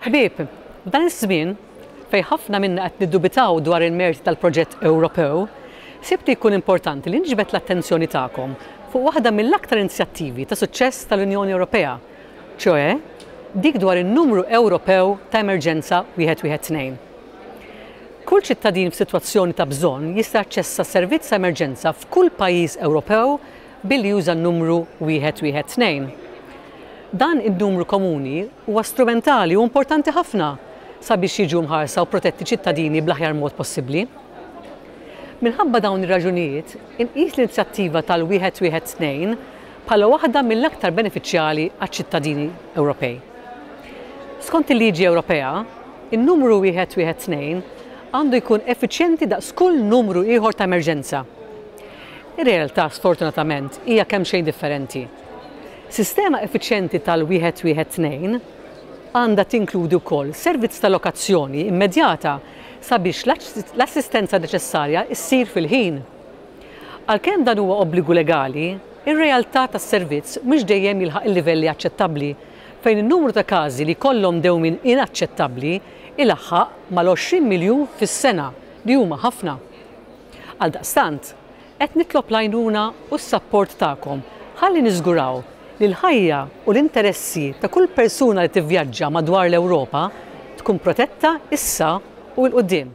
Ħbieb, f'dan iż-żmien, fejn ħafna minna qed niddubitaw dwar il-merti tal-proġett Ewropew, sibt li jkun importanti li niġbed l-attenzjoni tagħkom fuq waħda mill-aktar inizjattivi ta' suċċess tal-Unjoni Ewropea, ċoè dik dwar in-numru Ewropew ta' emerġenza 112. Kull ċittadin f'sitwazzjoni ta' bżonn jista' jaċċessa servizz ta' emerġenza f'kull pajjiż Ewropew billi juża n-numru 112. Dan in-numru komuni huwa strumentali u importanti ħafna sabiex jiġu mħarsa u protetti ċittadini bl-aħjar mod possibbli. Minħabba dawn ir-raġunijiet, inqis l-inizjattiva tal-112 bħala waħda mill-aktar benefiċjali għaċ-ċittadini Ewropej. Skont il-liġi Ewropea, in-numru 112 għandu jkun effiċjenti daqs kull numru ieħor ta' emerġenza. Ir-realtà, sfortunatament, hija kemxejn differenti. Sistema effiċjenti tal-112 għandha tinkludi wkoll servizz ta' lokazzjoni immedjata sabiex l-assistenza neċessarja ssir fil-ħin. Għalkemm dan huwa obbligu legali, ir-realtà tas-servizz mhux dejjem jilħaq il-livelli aċċettabbli fejn in-numru ta' każi li jkollhom dewmien inaċċettabbli ilaħħaq mal-20 miljun fis-sena, li huma ħafna. Għaldaqstant, qed nitlob l-għajnuna u s-sapport tagħkom ħalli niżguraw li l-ħajja u l-interessi ta' kull persuna li tivvjaġġa madwar l-Ewropa tkun protetta issa u 'l quddiem.